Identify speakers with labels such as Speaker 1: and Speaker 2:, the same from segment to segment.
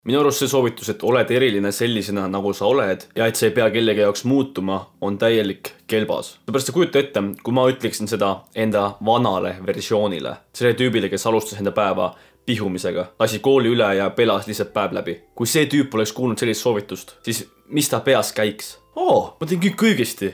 Speaker 1: Minu arust see soovitus, et oled eriline sellisena, nagu sa oled ja et sa ei pea kellegi jaoks muutuma, on täielik kelbas. Seepärast sa kujuta ette, kui ma ütleksin seda enda vanale versioonile, selle tüübile, kes alustas enda päeva pihumisega, lasi kooli üle ja pelas lihtsalt päev läbi. Kui see tüüp oleks kuulnud sellist soovitust, siis mis ta peas käiks? Ma teen kõik õigesti.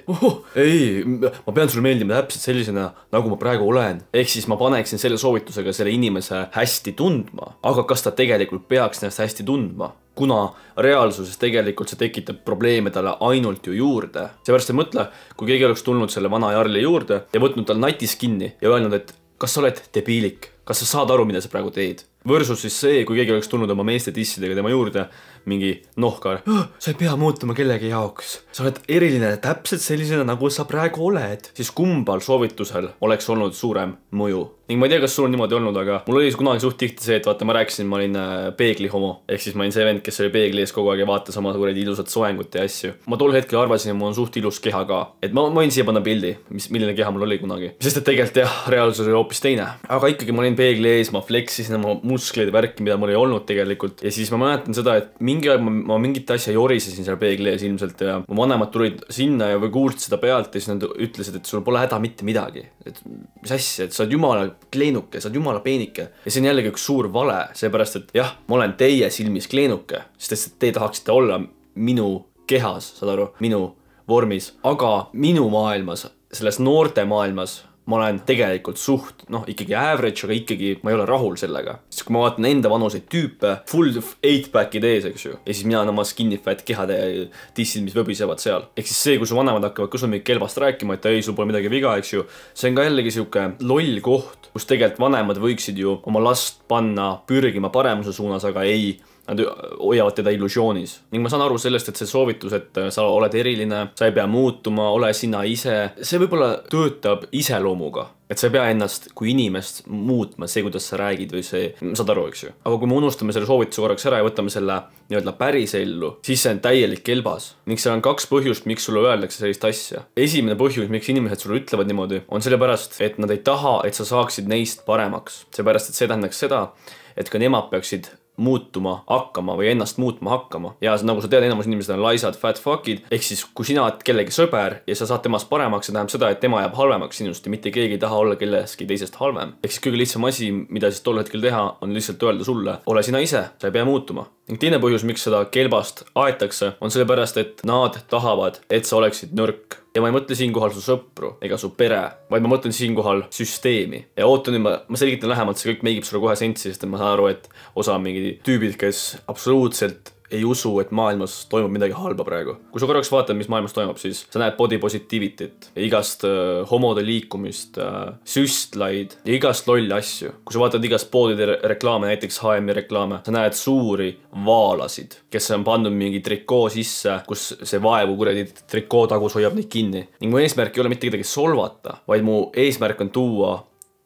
Speaker 1: Ei, ma pean sulle meeldima täpselt sellisena, nagu ma praegu olen. Ehk siis ma paneksin selle soovitusega selle inimese hästi tundma. Aga kas ta tegelikult peaks ennast hästi tundma? Kuna reaalsuses tegelikult see tekitab probleeme talle ainult ju juurde. Seepärast ei mõtle, kui keegi oleks tulnud selle vana Jarli juurde ja võtnud tal natis kinni ja öelnud, et kas sa oled debiilik? Kas sa saad aru, mida sa praegu teed? Versus siis see, kui keegi oleks tulnud oma meeste dissidega tema juurde, mingi nohkar. Sa ei pea muutuma kellegi jaoks. Sa oled eriline täpselt sellisena, nagu sa praegu oled. Siis kumbal soovitusel oleks olnud suurem mõju. Ning ma ei tea, kas sul on niimoodi olnud, aga mul oli kunagi suht tihti see, et vaata, ma rääkisin, ma olin peegli homo. Ehk siis ma olin see vend, kes oli peegli ees kogu aeg ja vaatas oma suured ilusat soengut ja asju. Ma tol hetkel arvasin, et mul on suht ilus keha ka. Et ma võin siia panna pildi, milline keha mul oli kunagi. Sest et tegelikult jah, reaalsus oli hoopis teine. Aga ikkagi ma olin peegli ees, ma fleksisin oma muskleid ja värki, mida mul ei olnud tegelikult. Ja siis ma mäletan seda, et mingi aeg ma mingit asja jorisesin seal peegli ees ilmselt ja mu vanemad tulid sinna ja kuulsid seda pealt ja siis nad ütlesid, et sul pole häda mitte midagi. Et mis asja, et sa oled jumala kleenuke, sa oled jumala peenike. Ja see on jällegi üks suur vale, seepärast et jah, ma olen teie silmis kleenuke, sest te tahaksite olla minu kehas, saad aru, minu vormis. Aga minu maailmas, selles noorte maailmas ma olen tegelikult suht, ikkagi average, aga ikkagi ma ei ole rahul sellega. Sest kui ma vaatan enda vanuseid tüüpe, full 8-pack'id ees, eks ju. Ja siis mina on oma skinny fat kehade dissid, mis võbisevad seal. Ehk siis see, kui su vanemad hakkavad, kus on mingi kelbast rääkima, et ei, sul pole midagi viga, eks ju. See on ka jällegi siuke loll koht, kus tegelikult vanemad võiksid ju oma last panna pürgima paremuse suunas, aga ei. Nad hoiavad teda illusioonis. Ning ma saan aru sellest, et see soovitus, et sa oled eriline, sa ei pea muutuma, ole sina ise. See võib-olla töötab iseloomuga. Et sa ei pea ennast kui inimest muutma, see, kuidas sa räägid või see, saad aru, eks ju. Aga kui me unustame selle soovituse korraks ära ja võtame selle päris ellu, siis see on täielik kelbas. Ning seal on 2 põhjust, miks sulle öeldakse sellist asja. Esimene põhjus, miks inimesed sulle ütlevad niimoodi, on sellepärast, et nad ei taha, et sa saaksid neist paremaks. Seepärast, et see tähendaks seda, et ka nemad peaksid muutuma hakkama või ennast muutma hakkama. Ja nagu sa tead, enamus inimesed on laisad, fat fuckid. Ehk siis, kui sina oled kellegi sõber ja sa saad temast paremaks, see tähendab seda, et tema jääb halvemaks sinust ja mitte keegi ei taha olla kelleski teisest halvem. Ehk siis kõige lihtsam asi, mida siis tol hetkel teha, on lihtsalt öelda sulle, ole sina ise, sa ei pea muutuma. Ning teine põhjus, miks seda kelbast aetakse, on sellepärast, et nad tahavad, et sa oleksid nõrk. Ja ma ei mõtle siinkohal su sõpru ega su pere, vaid ma mõtlen siinkohal süsteemi. Ja ootan nüüd, ma selgitan lähemalt, see kõik meigib sulle kohe sentsi, sest ma saan aru, et osa on mingi tüübid, kes absoluutselt ei usu, et maailmas toimub midagi halba praegu. Kui sa korraks vaatad, mis maailmas toimub, siis sa näed body positivity't ja igast homode liikumist, süstlaid ja igast lolli asju. Kui sa vaatad igast poodide reklaame, näiteks H&M reklaame, sa näed suuri vaalasid, kes on pandud mingi trikoo sisse, kus see vaevu kuradi trikoo tagus hoiab neid kinni. Ning mu eesmärk ei ole mitte kedagi solvata, vaid mu eesmärk on tuua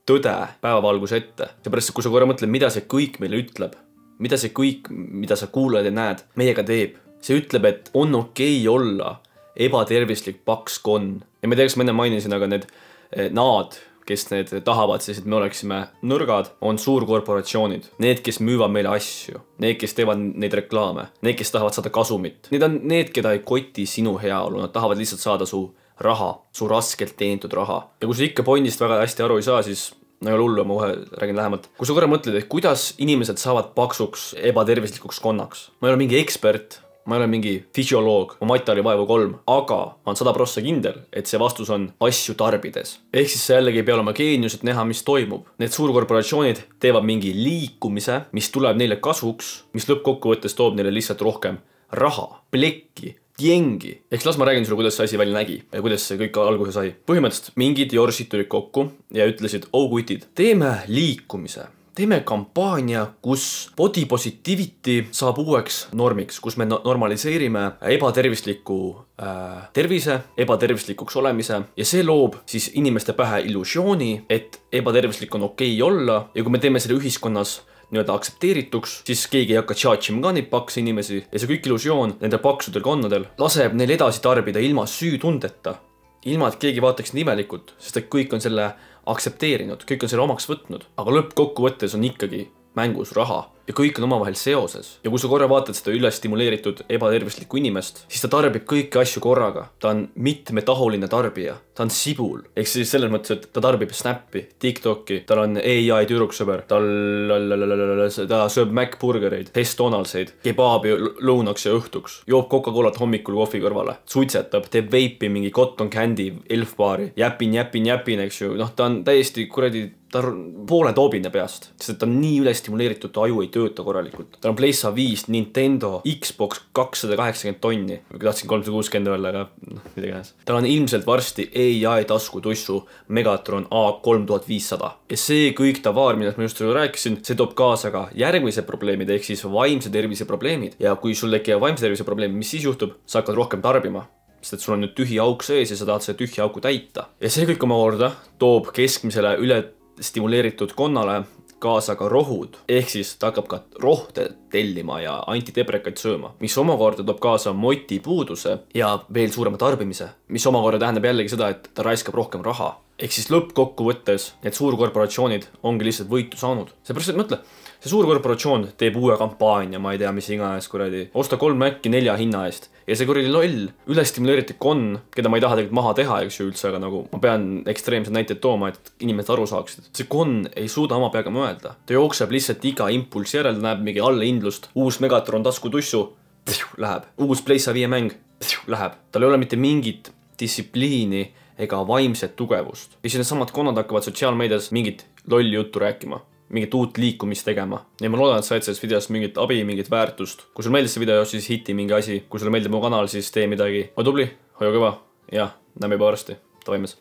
Speaker 1: tõde päevavalgus ette. Seepärast, kui sa korra mõtled, mida see kõik meile ütleb, mida see kõik, mida sa kuulad ja näed, meiega teeb. See ütleb, et on okei olla ebatervislik paks konn. Ja ma ei tea, kas ma enne mainisin, aga nad, kes need tahavad siis, et me oleksime nõrgad, on suurkorporatsioonid. Need, kes müüvad meile asju. Need, kes teevad neid reklaame. Need, kes tahavad saada kasumit. Need on need, keda ei koti sinu heaolu. Nad tahavad lihtsalt saada su raha, su raskelt teenitud raha. Ja kui sa ikka pointist väga hästi aru ei saa, siis no ei ole hullu, ma kohe räägin lähemalt. Kui sa korra mõtled, et kuidas inimesed saavad paksuks ebatervislikuks konnaks. Ma ei ole mingi ekspert, ma ei ole mingi füsioloog, ma Matali vaevu 3, aga ma olen 100% kindel, et see vastus on asju tarbides. Ehk siis sa jällegi ei pea olema geenius, et näha, mis toimub. Need suurkorporatsioonid teevad mingi liikumise, mis tuleb neile kasuks, mis lõppkokkuvõttes toob neile lihtsalt rohkem raha, plekki, jengi. Ehk las ma räägin sulle, kuidas see asi välja nägi ja kuidas see kõik alguse sai. Põhimõtteliselt mingid jorsid tulid kokku ja ütlesid, kutid, teeme liikumise. Teeme kampaania, kus body positivity saab uueks normiks, kus me normaliseerime ebatervisliku tervise, ebatervislikuks olemise ja see loob siis inimeste pähe illusiooni, et ebatervislik on okei olla ja kui me teeme selle ühiskonnas aktsepteerituks, siis keegi ei hakka tšaatšima ka neid pakse inimesi ja see kõik illusioon nende paksudel konnadel laseb neil edasi tarbida ilma süütundeta, ilma et keegi vaataks nimelikult, sest et kõik on selle aktsepteerinud, kõik on selle omaks võtnud, aga lõppkokkuvõttes on ikkagi mängus raha. ja kõik on omavahel seoses. Ja kui sa korra vaatad seda üles stimuleeritud ebatervislikku inimest, siis ta tarbib kõiki asju korraga. Ta on mitmetahuline tarbija. Ta on sibul. Ehk siis selles mõttes, et ta tarbib Snappi, TikToki, tal on AI tüdruksõber, ta sööb McBurgereid, Donaldseid, kebaabi lõunaks ja õhtuks, joob Coca-Colat hommikul kohvi kõrvale, suitsetab, teeb veipi mingi cotton candy elfbaari, jäpin, eks ju, noh, ta on täiesti kuradi, ta on poole toobine peast, sest ta on nii ülestimuleeritud, ta aju ei tööta korralikult. Ta on PlayStation 5, Nintendo, Xbox 280 tonni. Tahtsin 360 öelda, aga mida iganes. Tal on ilmselt varsti AI taskutussu Megatron A3500. Ja see kõik tavaar, millest ma just rääkisin, see toob kaasa ka järgmise probleemid, ehk siis vaimse tervise probleemid. Ja kui sul tekivad vaimse tervise probleemid, mis siis juhtub? Sa hakkad rohkem tarbima. Sest et sul on nüüd tühi auk sees ja sa tahad selle tühja auku täita. Ja see kõik omakorda toob keskmisele üle stimuleeritud konnale kaasa ka rohud, ehk siis ta hakkab ka rohte tellima ja antideprekaid sööma, mis omakorda toob kaasa motipuuduse ja veel suurema tarbimise, mis omakorda tähendab jällegi seda, et ta raiskab rohkem raha. Ehk siis lõppkokkuvõttes need suurkorporatsioonid ongi lihtsalt võitu saanud. Seepärast, et mõtle, see suurkorporatsioon teeb uue kampaania, ma ei tea, mis iganes kuradi, osta 3 Maci 4 hinna eest ja see kuradi loll, ülestimuleeritud konn, keda ma ei taha tegelikult maha teha, eks ju üldse, aga nagu ma pean ekstreemsed näited tooma, et inimesed aru saaksid. See konn ei suuda oma peaga mõelda. Ta jookseb lihtsalt iga impulsi järel, näeb mingi allehindlust, uus Megatron taskutussu, läheb, uus PlayStation 5 mäng, läheb. Tal ei ole mitte mingit distsipliini ega vaimset tugevust. Ja siis need samad konnad hakkavad sotsiaalmeedias mingit lolli juttu rääkima, mingit uut liikumist tegema. Ja ma loodan, et said sellest videost mingit abi, mingit väärtust. Kui sul meeldis see video, siis hiti mingi asi. Kui sulle meeldib mu kanal, siis tee midagi. Ole tubli, hoia kõva ja näeme juba varsti. Tavaimes.